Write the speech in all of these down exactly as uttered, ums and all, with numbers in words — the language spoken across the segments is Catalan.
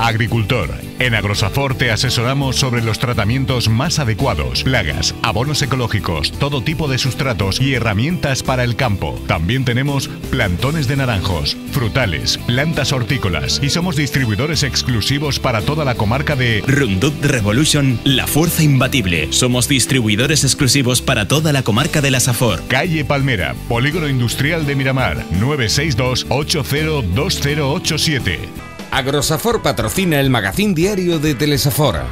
Agricultor. En Agrosafor te asesoramos sobre los tratamientos más adecuados, plagas, abonos ecológicos, todo tipo de sustratos y herramientas para el campo. También tenemos plantones de naranjos, frutales, plantas hortícolas y somos distribuidores exclusivos para toda la comarca de Roundup Revolution, la fuerza imbatible. Somos distribuidores exclusivos para toda la comarca de la Safor. Calle Palmera, Polígono Industrial de Miramar, nueve seis dos, ocho cero dos cero ocho siete. Agrosafor patrocina el magazín diario de Telesafor.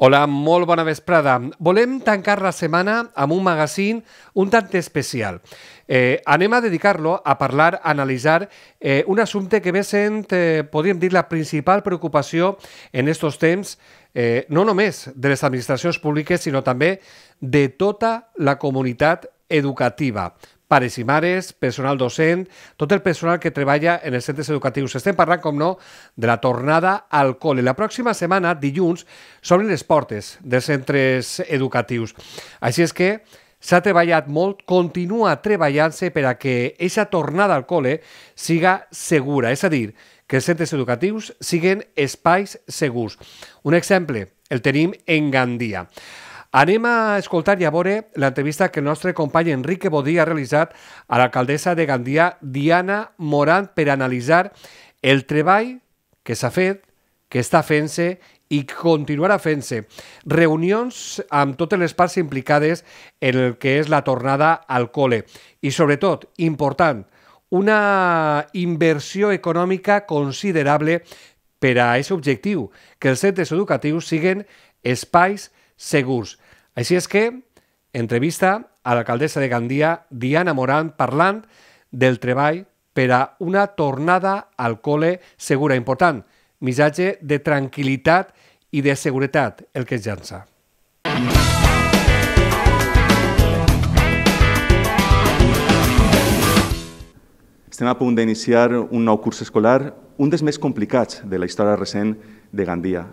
Hola, molt bona vesprada. Volem tancar la setmana amb un magazín un tant especial. Eh, anem a dedicar-lo a parlar, a analitzar eh, un assumpte que ve sent, eh, podríem dir, la principal preocupació en estos temps, eh, no només de les administracions públiques, sinó també de tota la comunitat educativa. Pares i mares, personal docent, tot el personal que treballa en els centres educatius. Estem parlant, com no, de la tornada al col·le. La pròxima setmana, dilluns, s'obren les portes dels centres educatius. Així és que s'ha treballat molt, continua treballant-se per a que aquesta tornada al col·le siga segura, és a dir, que els centres educatius siguin espais segurs. Un exemple el tenim en Gandia. Anem a escoltar i a veure l'entrevista que el nostre company Enrique Bodí ha realitzat a l'alcaldessa de Gandia, Diana Morant, per analitzar el treball que s'ha fet, que està fent-se i continuarà fent-se. Reunions amb totes les parts implicades en el que és la tornada al col·le. I sobretot, important, una inversió econòmica considerable per a aquest objectiu, que els centres educatius siguin espais segurs. Així és que, entrevista a l'alcaldessa de Gandia, Diana Morant, parlant del treball per a una tornada al col·le segura. Important, missatge de tranquil·litat i de seguretat, el que es llança. Estem a punt d'iniciar un nou curs escolar, un dels més complicats de la història recent de Gandia.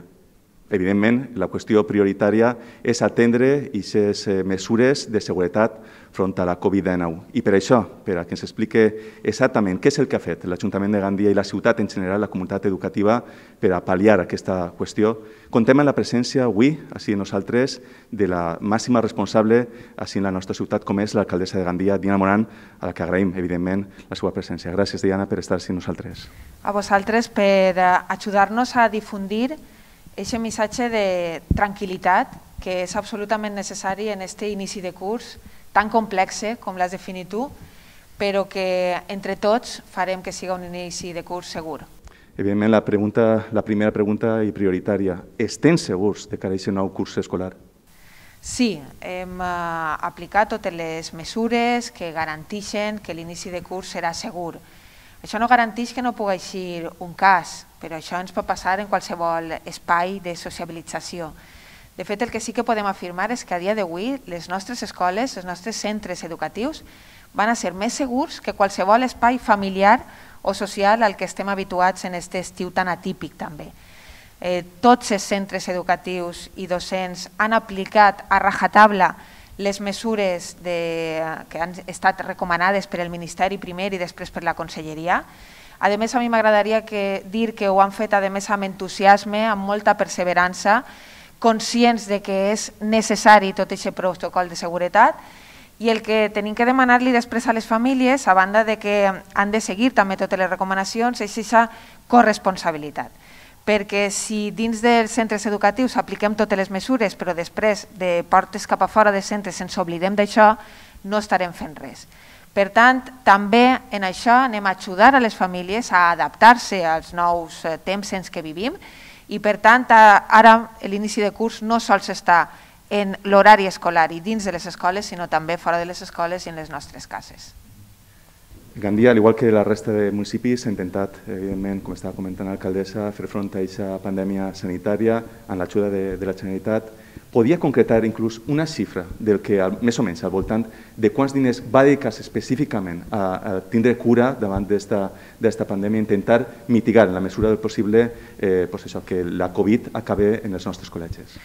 Evidentment, la qüestió prioritària és atendre aquestes mesures de seguretat front a la Covid dinou. I per això, per a que ens expliqui exactament què és el que ha fet l'Ajuntament de Gandia i la ciutat en general, la comunitat educativa, per a pal·liar aquesta qüestió, contem amb la presència avui, així nosaltres, de la màxima responsable així en la nostra ciutat, com és l'alcaldessa de Gandia, Diana Morant, a la que agraïm, evidentment, la seva presència. Gràcies, Diana, per estar així nosaltres. A vosaltres per ajudar-nos a difundir aquest missatge de tranquil·litat que és absolutament necessari en aquest inici de curs tan complex com l'has definit tu, però que entre tots farem que siga un inici de curs segur. Evidentment, la, pregunta, la primera pregunta i prioritària, estem segurs de cara a aquest nou curs escolar? Sí, hem uh, aplicat totes les mesures que garanteixen que l'inici de curs serà segur. Això no garanteix que no pugui eixir un cas, però això ens pot passar en qualsevol espai de sociabilització. De fet, el que sí que podem afirmar és que a dia d'avui les nostres escoles, els nostres centres educatius van a ser més segurs que qualsevol espai familiar o social al que estem habituats en aquest estiu tan atípic també. Eh, tots els centres educatius i docents han aplicat a rajatabla les mesures de, que han estat recomanades per el Ministeri primer i després per la Conselleria. A més, a mi m'agradaria dir que ho han fet a més amb entusiasme, amb molta perseverança, conscients de que és necessari tot aquest protocol de seguretat i el que tenim que demanar-li després a les famílies, a banda de que han de seguir també totes les recomanacions, és aquesta corresponsabilitat. Perquè si dins dels centres educatius apliquem totes les mesures, però després de portes cap a fora dels centres ens oblidem d'això, no estarem fent res. Per tant, també en això anem a ajudar a les famílies a adaptar-se als nous temps en què vivim i per tant ara l'inici de curs no sols està en l'horari escolar i dins de les escoles, sinó també fora de les escoles i en les nostres cases. Gandia, al igual que la resta de municipis, ha intentat, evidentment, com estava comentant l'alcaldessa, fer front a aquesta pandèmia sanitària amb l'ajuda de, de la Generalitat. podia concretar inclús una xifra del que, més o menys, al voltant de quants diners va dedicar-se específicament a, a tindre cura davant d'esta pandèmia, intentar mitigar en la mesura del possible eh, pues això, que la Covid acabe en els nostres col·legis?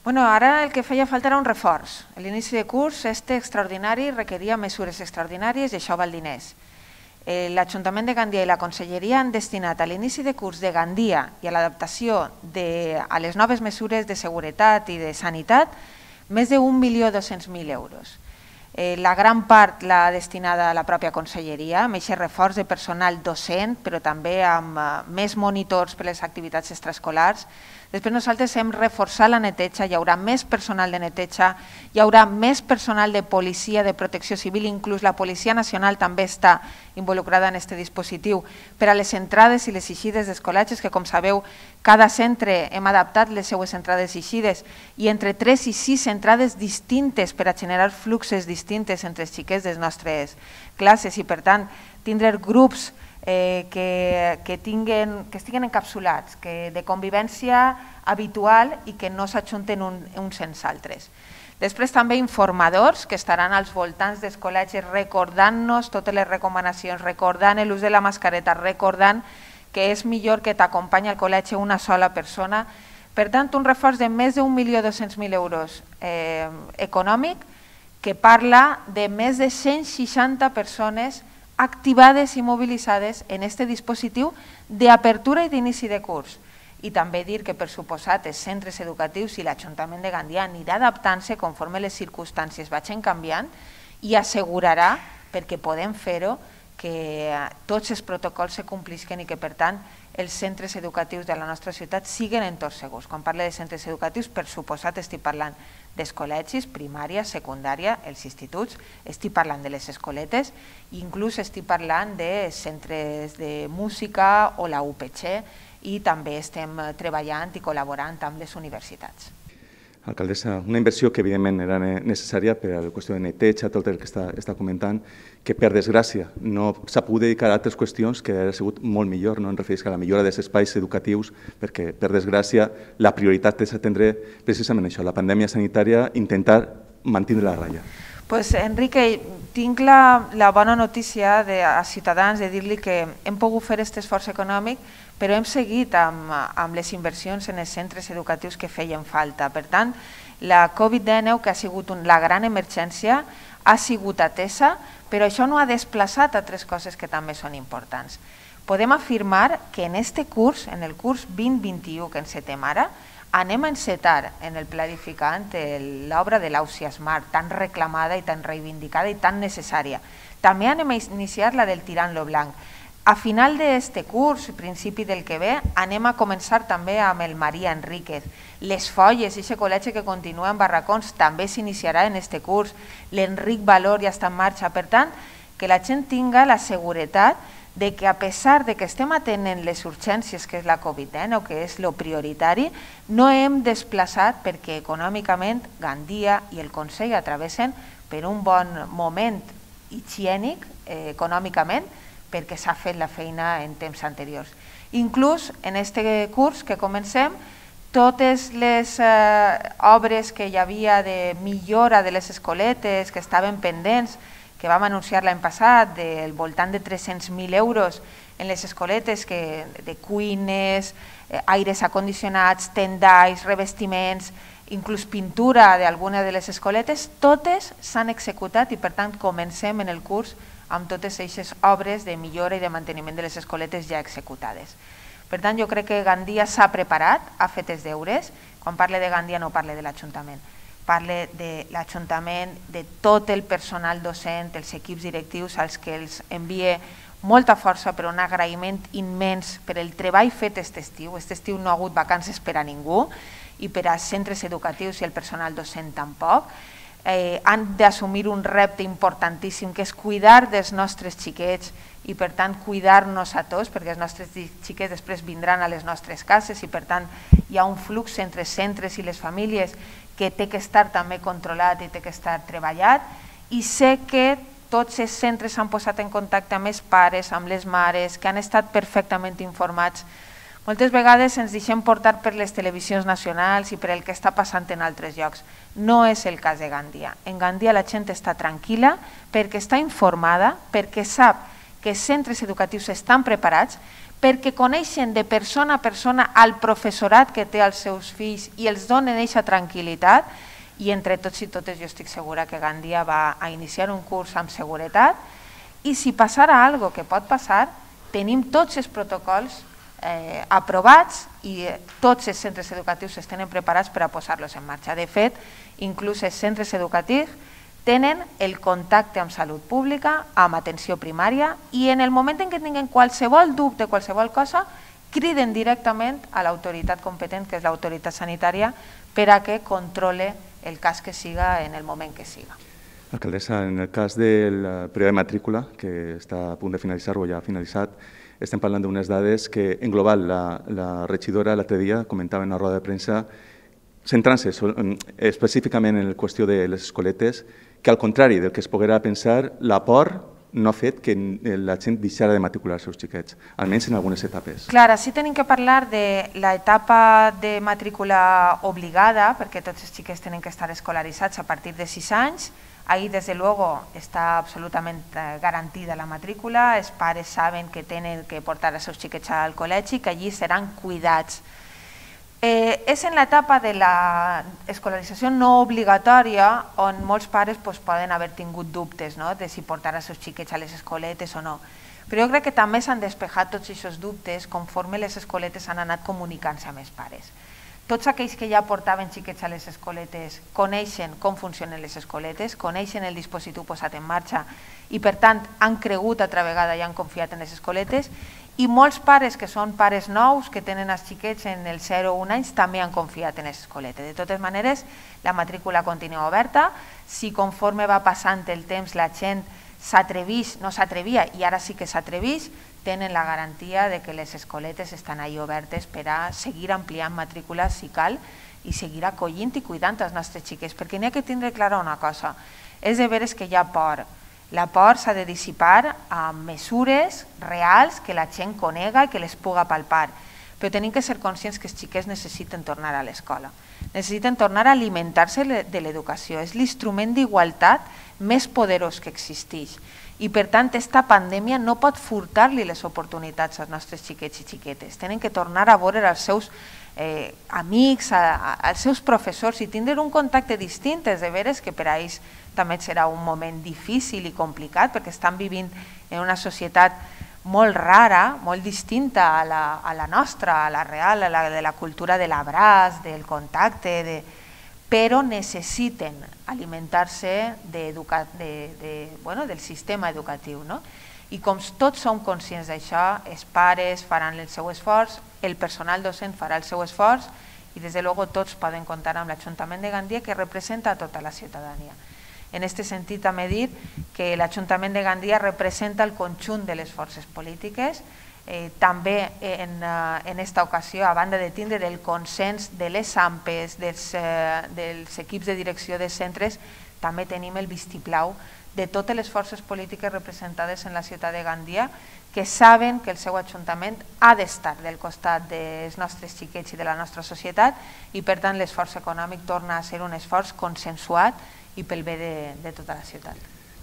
Bueno, ara el que feia falta era un reforç. L'inici de curs, este extraordinari, requeria mesures extraordinàries i això val diners. L'Ajuntament de Gandia i la Conselleria han destinat a l'inici de curs de Gandia i a l'adaptació a les noves mesures de seguretat i de sanitat més d'un milió dos-cents mil euros. La gran part l'ha destinada a la pròpia Conselleria, amb aquest reforç de personal docent, però també amb més monitors per a les activitats extraescolars. Després nosaltres hem reforçat la neteja, hi haurà més personal de neteja, hi haurà més personal de policia, de protecció civil, inclús la Policia Nacional també està involucrada en aquest dispositiu per a les entrades i les eixides dels col·legis, que com sabeu, cada centre hem adaptat les seues entrades i eixides i entre tres i sis entrades distintes per a generar fluxes distintes entre els xiquets de les nostres classes i per tant tindre grups Eh, que, que, tinguen, que estiguen encapsulats, que de convivència habitual i que no s'ajunten un, uns sense altres. Després també informadors que estaran als voltants dels col·legis recordant-nos totes les recomanacions, recordant l'ús de la mascareta, recordant que és millor que t'acompanyi al col·legi una sola persona. Per tant, un reforç de més d'un milió dos-cents mil euros eh, econòmic que parla de més de cent seixanta persones activades i mobilitzades en aquest dispositiu d'apertura i d'inici de curs. I també dir que, per suposat, els centres educatius i l'Ajuntament de Gandia anirà adaptant-se conforme les circumstàncies vagin canviant i assegurarà, perquè podem fer-ho, que tots els protocols se complisquen i que, per tant, els centres educatius de la nostra ciutat siguin entorns segurs. Quan parlo de centres educatius, per suposat, estic parlant dels col·legis, primària, secundària, els instituts, estic parlant de les escoletes, inclús estic parlant de centres de música o la U P C i també estem treballant i col·laborant amb les universitats. Alcaldessa, una inversió que evidentment era necessària per a la qüestió de neteja, tot el que està, està comentant, que per desgràcia no s'ha pogut dedicar a altres qüestions que hauria sigut molt millor, no? Em refereix a la millora dels espais educatius, perquè per desgràcia la prioritat és atendre precisament això, la pandèmia sanitària, intentar mantenir la ratlla. Pues, Enrique, tinc la, la bona notícia de, a Ciutadans de dir-li que hem pogut fer aquest esforç econòmic, però hem seguit amb, amb les inversions en els centres educatius que feien falta. Per tant, la Covid dinou, que ha sigut un, la gran emergència, ha sigut atesa, però això no ha desplaçat altres coses que també són importants. Podem afirmar que en aquest curs, en el curs vint vint-i-u que encetem ara, anem a encetar en el pla edificant l'obra de l'Ausia Smart, tan reclamada i tan reivindicada i tan necessària. També anem a iniciar la del Tirant lo Blanc. A final d'aquest curs, principi del que ve, anem a començar també amb el Maria Enríquez. Les Folles, aquest col·legi que continua en barracons, també s'iniciarà en aquest curs. L'Enric Valor ja està en marxa. Per tant, que la gent tinga la seguretat de que a pesar de que estem atenent les urgències que és la Covid dinou, que és lo prioritari, no hem desplaçat perquè econòmicament Gandia i el Consell atravessen per un bon moment higiènic eh, econòmicament, perquè s'ha fet la feina en temps anteriors. Inclús en aquest curs que comencem, totes les eh, obres que hi havia de millora de les escoletes que estaven pendents, que vam anunciar l'any passat, del voltant de tres-cents mil euros en les escoletes, que, de cuines, eh, aires acondicionats, tendalls, revestiments, inclús pintura d'alguna de les escoletes, totes s'han executat i per tant comencem en el curs amb totes aquestes obres de millora i de manteniment de les escoletes ja executades. Per tant, jo crec que Gandia s'ha preparat, ha fet els deures. Quan parle de Gandia no parle de l'Ajuntament, parle de l'Ajuntament, de tot el personal docent, els equips directius als que els envie molta força, però un agraïment immens per el treball fet aquest estiu. Aquest estiu no ha hagut vacances per a ningú i per als centres educatius i el personal docent tampoc. Eh, han d'assumir un repte importantíssim que és cuidar dels nostres xiquets i per tant cuidar-nos a tots, perquè els nostres xiquets després vindran a les nostres cases i per tant hi ha un flux entre centres i les famílies que té que estar també controlat i té que estar treballat, i sé que tots els centres s'han posat en contacte amb els pares, amb les mares, que han estat perfectament informats. Moltes vegades ens deixem portar per les televisions nacionals i per el que està passant en altres llocs. No és el cas de Gandia. En Gandia la gent està tranquil·la perquè està informada, perquè sap que els centres educatius estan preparats, perquè coneixen de persona a persona al professorat que té els seus fills i els donen aquesta tranquil·litat, i entre tots i totes jo estic segura que Gandia va a iniciar un curs amb seguretat, i si passara alguna cosa que pot passar, tenim tots els protocols Eh, aprovats i tots els centres educatius estan preparats per a posar-los en marxa. De fet, inclús els centres educatius tenen el contacte amb salut pública, amb atenció primària, i en el moment en què tinguin qualsevol dubte, qualsevol cosa, criden directament a l'autoritat competent, que és l'autoritat sanitària, per a que controle el cas que siga en el moment que siga. Alcaldessa, en el cas del període de matrícula, que està a punt de finalitzar o ja ha finalitzat, estem parlant d'unes dades que, en global, la, la regidora l'altre dia comentava en una roda de premsa, centrant-se específicament en la qüestió de les escoletes, que al contrari del que es poguera pensar, la por no ha fet que la gent deixara de matricular els seus xiquets, almenys en algunes etapes. Clar, sí tenim que parlar de l'etapa de matrícula obligada, perquè tots els xiquets tenen que estar escolaritzats a partir de sis anys. Ahí, desde luego, está absolutamente garantida la matrícula, els pares saben que tenen que portar els seus xiquets al col·legi, que allí seran cuidats. Eh, és en l'etapa de l'escolarització no obligatòria on molts pares pues, poden haver tingut dubtes, no?, de si portar els seus xiquets a les escoletes o no. Però jo crec que també s'han despejat tots aquests dubtes conforme les escoletes han anat comunicant-se amb els pares. Tots aquells que ja portaven xiquets a les escoletes coneixen com funcionen les escoletes, coneixen el dispositiu posat en marxa i per tant han cregut altra vegada i han confiat en les escoletes, i molts pares que són pares nous, que tenen els xiquets en el zero o un anys, també han confiat en les escoletes. De totes maneres, la matrícula continua oberta. Si conforme va passant el temps la gent s'atrevís, no s'atrevia i ara sí que s'atrevís, tenen la garantia de que les escoletes estan ahí obertes per a seguir ampliant matrícules si cal i seguir acollint i cuidant els nostres xiquets, perquè n'hi ha que tindre clara una cosa, és de veres que hi ha por. La por s'ha de dissipar amb mesures reals que la gent conega i que les puga palpar, però tenim que ser conscients que els xiquets necessiten tornar a l'escola, necessiten tornar a alimentar-se de l'educació, és l'instrument d'igualtat més poderós que existeix. I per tant, aquesta pandèmia no pot furtar-li les oportunitats als nostres xiquets i xiquetes. Tenen que tornar a veure els seus eh, amics, a, a, als seus professors i tindre un contacte distint. És de veres que per a ells també serà un moment difícil i complicat perquè estan vivint en una societat molt rara, molt distinta a la, a la nostra, a la real, a la de la cultura de l'abraç, del contacte, de... però necessiten alimentar-se de, de, de, bueno, del sistema educatiu. No? I com tots som conscients d'això, els pares faran el seu esforç, el personal docent farà el seu esforç i des de luego tots poden comptar amb l'Ajuntament de Gandia que representa a tota la ciutadania. En aquest sentit també dir que l'Ajuntament de Gandia representa el conjunt de les forces polítiques. Eh, també en, uh, en esta ocasió, a banda de tindre el consens de les A M P Es, dels, uh, dels equips de direcció de centres, també tenim el vistiplau de totes les forces polítiques representades en la ciutat de Gandia que saben que el seu ajuntament ha d'estar del costat dels nostres xiquets i de la nostra societat i per tant l'esforç econòmic torna a ser un esforç consensuat i pel bé de, de tota la ciutat.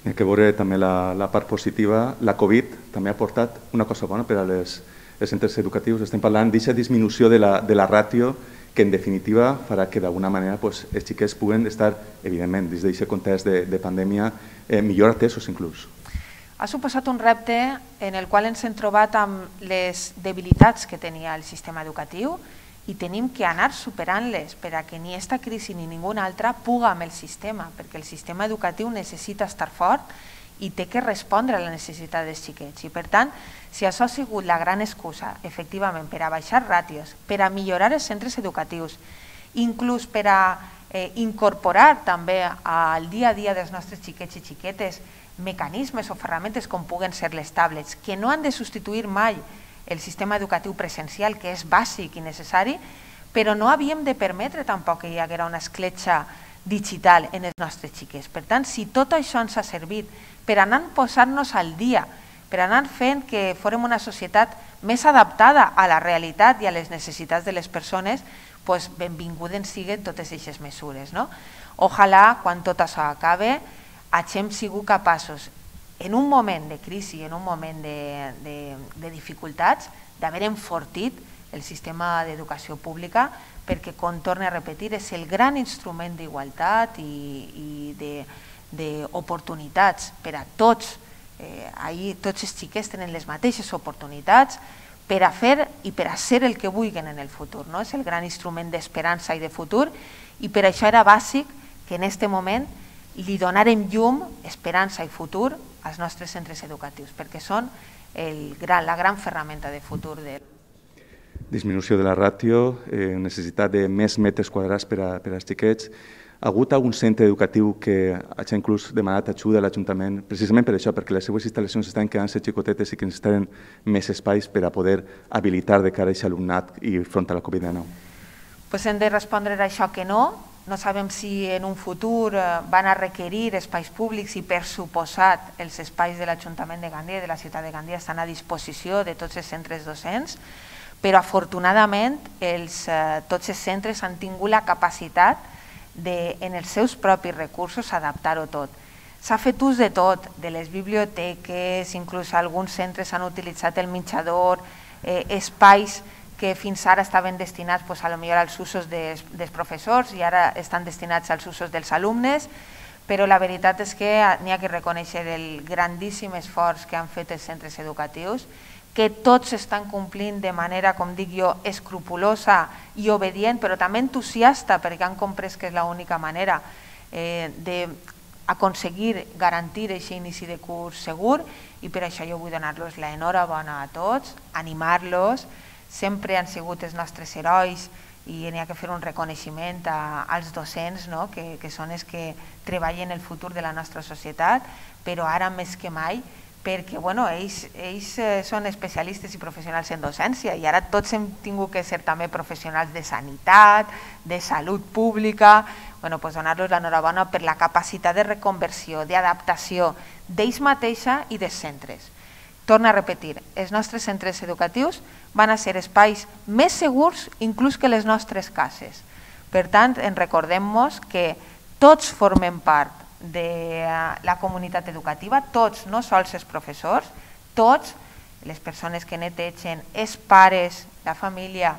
Hi ha que veure també la, la part positiva. La Covid també ha portat una cosa bona per als centres educatius. Estem parlant d'aquesta disminució de la, de la ràtio que en definitiva farà que d'alguna manera pues, els xiquets puguen estar, evidentment, dins d'aquest context de, de pandèmia, eh, millor atesos inclús. Ha suposat un repte en el qual ens hem trobat amb les debilitats que tenia el sistema educatiu i tenim que anar superant-les per a que ni aquesta crisi ni ninguna altra puga amb el sistema, perquè el sistema educatiu necessita estar fort i té que respondre a la necessitat dels xiquets. I per tant, si això ha sigut la gran excusa, efectivament, per a baixar ràtios, per a millorar els centres educatius, inclús per a eh, incorporar també al dia a dia dels nostres xiquets i xiquetes mecanismes o ferramentes com puguen ser les tablets, que no han de substituir mai el sistema educatiu presencial, que és bàsic i necessari, però no havíem de permetre tampoc que hi haguera una escletxa digital en els nostres xiquets. Per tant, si tot això ens ha servit per anar posant-nos al dia, per anar fent que fórem una societat més adaptada a la realitat i a les necessitats de les persones, doncs benvingudes siguen totes aquestes mesures. Ojalà, quan tot això acabe, hagem sigut capaços, en un moment de crisi, en un moment de dificultats, d'haver enfortit el sistema d'educació pública, perquè, com torno a repetir, és el gran instrument d'igualtat i d'oportunitats per a tots. Ahir tots els xiquets tenen les mateixes oportunitats per a fer i per a ser el que vulguin en el futur. És el gran instrument d'esperança i de futur, i per això era bàsic que en aquest moment li donarem llum, esperança i futur als nostres centres educatius, perquè són la gran ferramenta de futur. Disminució de la ràtio, necessitat de més metres quadrats per als xiquets. Ha hagut algun centre educatiu que hagi inclús demanat ajuda a l'Ajuntament, precisament per això, perquè les seues instal·lacions estan quedant-se xicotetes i que necessiten més espais per a poder habilitar de cara a aquest alumnat i front a la Covid dinou? Hem de respondre a això que no. No sabem si en un futur van a requerir espais públics i, per suposat, els espais de l'Ajuntament de Gandia i de la ciutat de Gandia estan a disposició de tots els centres docents, però afortunadament tots els centres han tingut la capacitat de, en els seus propis recursos, adaptar-ho tot. S'ha fet ús de tot, de les biblioteques, inclús alguns centres han utilitzat el menjador, espais que fins ara estaven destinats potser als usos dels professors i ara estan destinats als usos dels alumnes, però la veritat és que n'hi ha que reconèixer el grandíssim esforç que han fet els centres educatius, que tots estan complint de manera, com dic jo, escrupulosa i obedient, però també entusiasta, perquè han comprès que és l'única manera d'aconseguir garantir aquest inici de curs segur, i per això jo vull donar-los l'enhorabona a tots, animar-los. Sempre han sigut els nostres herois i n'hi ha que fer un reconeixement als docents, que són els que treballen el futur de la nostra societat, però ara més que mai, perquè ells són especialistes i professionals en docència i ara tots hem tingut que ser també professionals de sanitat, de salut pública, donar-los l'enhorabona per la capacitat de reconversió, d'adaptació d'ells mateixa i dels centres. Torno a repetir, els nostres centres educatius van a ser espais més segurs inclús que les nostres cases. Per tant, en recordem-nos que tots formem part de la comunitat educativa, tots, no sols els professors, tots, les persones que netegen, els pares, la família,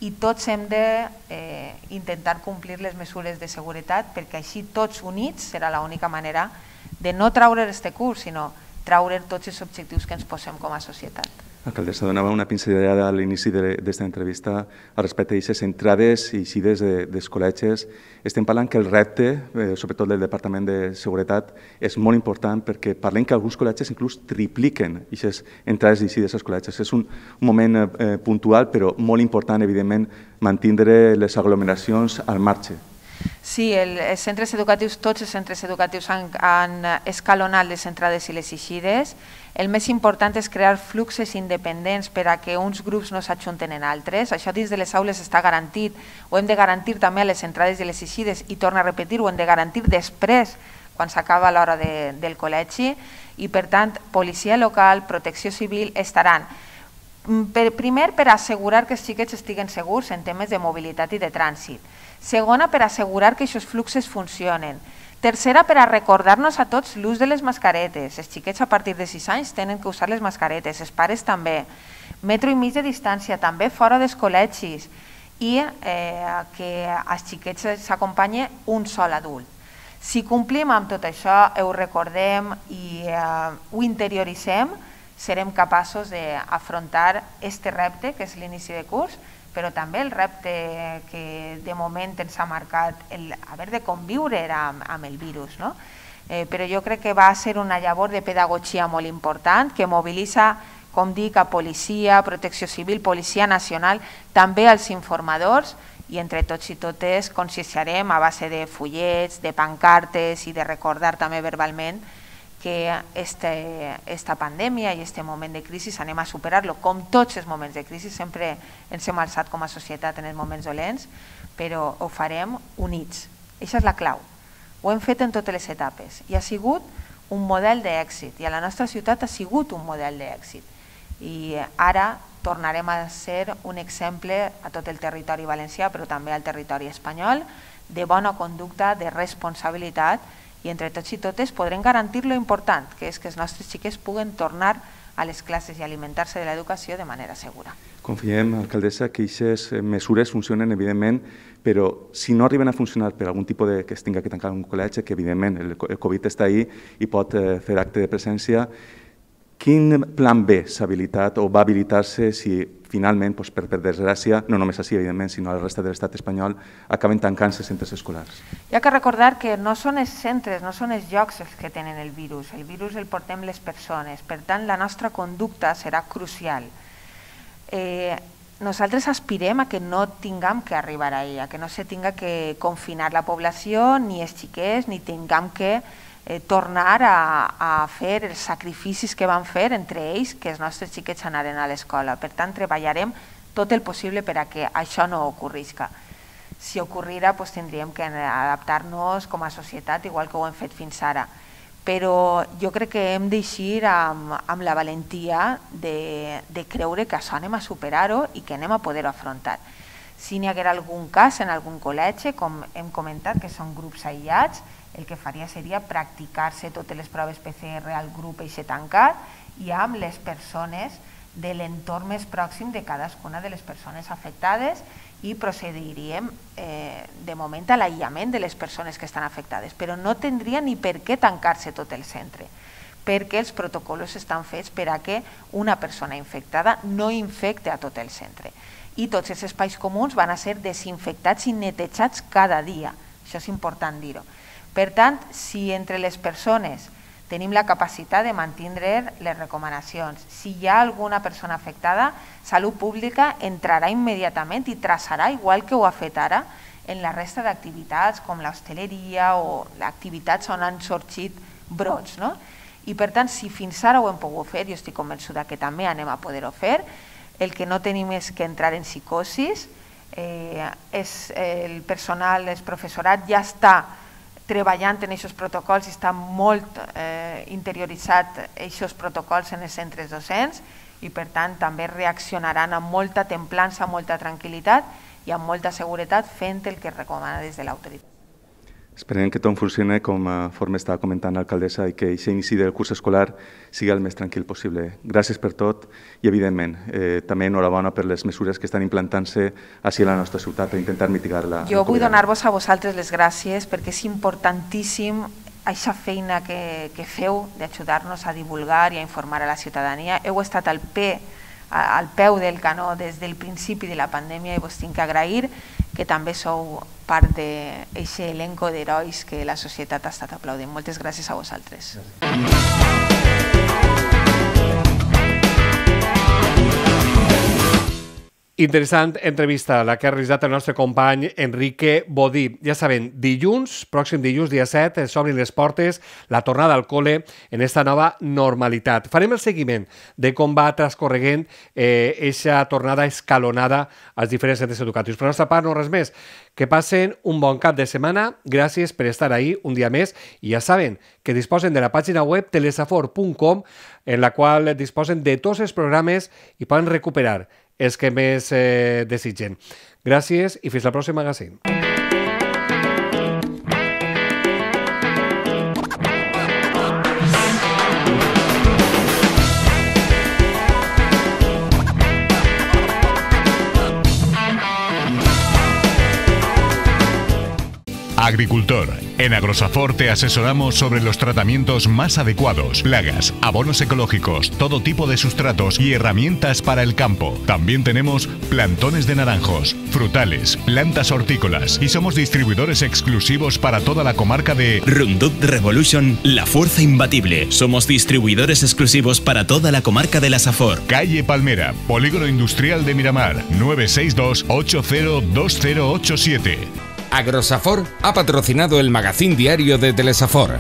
i tots hem d'intentar complir les mesures de seguretat perquè així tots units serà l'única manera de no treure aquest curs, sinó treure tots els objectius que ens posem com a societat. Alcaldessa, donava una pinzellada a l'inici d'esta entrevista al respecte d'aquestes entrades i eixides dels col·legis. Estem parlant que el repte, sobretot del Departament de Seguretat, és molt important perquè parlem que alguns col·legis inclús tripliquen aquestes entrades i eixides als col·legis. És un moment puntual, però molt important, evidentment, mantindre les aglomeracions al marge. Sí, els centres educatius, tots els centres educatius han escalonat les entrades i les eixides. El més important és crear fluxes independents per a que uns grups no s'ajunten en altres. Això dins de les aules està garantit. Ho hem de garantir també a les entrades i les eixides i, torno a repetir, ho hem de garantir després, quan s'acaba l'hora del col·legi. I, per tant, policia local, protecció civil estaran. Primer, per assegurar que els xiquets estiguen segurs en temes de mobilitat i de trànsit. Segona, per assegurar que aquests fluxos funcionen. Tercera, per a recordar-nos a tots l'ús de les mascaretes. Els xiquets a partir de sis anys tenen que usar les mascaretes, els pares també. Metro i mig de distància, també fora dels col·legis. I que als xiquets s'acompanyi un sol adult. Si complim amb tot això, ho recordem i ho interioritzem, serem capaços d'afrontar aquest repte, que és l'inici de curs, però també el repte que de moment ens ha marcat haver de conviure amb el virus. Però jo crec que va ser una llavor de pedagogia molt important que mobilitza, com dic, a policia, protecció civil, policia nacional, també als informadors, i entre tots i totes conscienciarem a base de fullets, de pancartes i de recordar també verbalment que aquesta pandèmia i aquest moment de crisi anem a superar-lo. Com tots els moments de crisi, sempre ens hem alçat com a societat en els moments dolents, però ho farem units. Aquesta és la clau. Ho hem fet en totes les etapes i ha sigut un model d'èxit i a la nostra ciutat ha sigut un model d'èxit. I ara tornarem a ser un exemple a tot el territori valencià, però també al territori espanyol, de bona conducta, de responsabilitat, i entre tots i totes podrem garantir lo important, que és que els nostres xiquets puguen tornar a les classes i alimentar-se de l'educació de manera segura. Confiem, alcaldessa, que aquestes mesures funcionen, evidentment, però si no arriben a funcionar per algun tipus de que es tingui que tancar un col·legi, que evidentment el Covid està ahí i pot fer acte de presència, quin plan B s'ha habilitat o va habilitar-se si finalment, per desgràcia, no només així, evidentment, sinó a la resta de l'estat espanyol, acaben tancant-se centres escolars? Hi ha que recordar que no són els centres, no són els llocs els que tenen el virus. El virus el portem les persones. Per tant, la nostra conducta serà crucial. Eh, nosaltres aspirem a que no tinguem que arribar a ella, que no se tinga que confinar la població, ni els xiquets, ni tinguem que eh, tornar a, a fer els sacrificis que van fer entre ells que els nostres xiquets anaren a l'escola. Per tant, treballarem tot el possible per a que això no ocorrisca. Si ocorrirà, doncs tindríem que adaptar-nos com a societat, igual que ho hem fet fins ara. Però jo crec que hem d'eixir amb, amb la valentia de, de creure que això anem a superar-ho i que anem a poder-ho afrontar. Si n'hi haguera algun cas en algun col·legi, com hem comentat, que són grups aïllats, el que faria seria practicar-se totes les proves P C R al grup eixe tancat i amb les persones de l'entorn més pròxim de cadascuna de les persones afectades i procediríem eh, de moment a l'aïllament de les persones que estan afectades, però no tindria ni per què tancar-se tot el centre, perquè els protocols estan fets per a que una persona infectada no infecte a tot el centre. I tots els espais comuns van a ser desinfectats i netejats cada dia, això és important dir-ho. Per tant, si entre les persones tenim la capacitat de mantindre les recomanacions, si hi ha alguna persona afectada, Salut Pública entrarà immediatament i traçarà, igual que ho ha fet ara, en la resta d'activitats com l'hostaleria o activitats on han sorgit brots. No? I per tant, si fins ara ho hem pogut fer, jo estic convençuda que també anem a poder-ho fer, el que no tenim és que entrar en psicosis, eh, és el personal, el professorat ja està treballant en aquests protocols i està molt eh, interioritzat aquests protocols en els centres docents i per tant també reaccionaran amb molta templança, molta tranquil·litat i amb molta seguretat fent el que recomana des de l'autoritat. Esperem que tot funcioni com forma estava comentant l'alcaldessa i que aquest inici del curs escolar sigui el més tranquil possible. Gràcies per tot i, evidentment, eh, també enhorabona per les mesures que estan implantant-se així a la nostra ciutat per intentar mitigar-la. Jo vull donar-vos a vosaltres les gràcies perquè és importantíssim aquesta feina que, que feu d'ajudar-nos a divulgar i a informar a la ciutadania. Heu estat al, pe, al peu del canó des del principi de la pandèmia i vos tinc que agrair que també sou part d'aquest elenco d'herois que la societat ha estat aplaudint. Moltes gràcies a vosaltres. Interessant entrevista la que ha realitzat el nostre company Enrique Bodí. Ja saben, dilluns, pròxim dilluns, dia set, s'obrin les portes, la tornada al col·le en esta nova normalitat. Farem el seguiment de com va transcorreguent aquesta eh, tornada escalonada als diferents centres educatius. Per la nostra part, no res més. Que passen un bon cap de setmana. Gràcies per estar ahí un dia més. I ja saben que disposen de la pàgina web telesafor punt com en la qual disposen de tots els programes i poden recuperar els que més eh, desitgen. Gràcies i fins al pròxim magazín. Agricultor. En Agrosafor te asesoramos sobre los tratamientos más adecuados, plagas, abonos ecológicos, todo tipo de sustratos y herramientas para el campo. También tenemos plantones de naranjos, frutales, plantas hortícolas y somos distribuidores exclusivos para toda la comarca de Roundup Revolution, la fuerza imbatible. Somos distribuidores exclusivos para toda la comarca de la Safor. Calle Palmera, Polígono Industrial de Miramar, nueve seis dos, ocho cero dos cero ocho siete. Agrosafor ha patrocinado el magazín diario de Telesafor.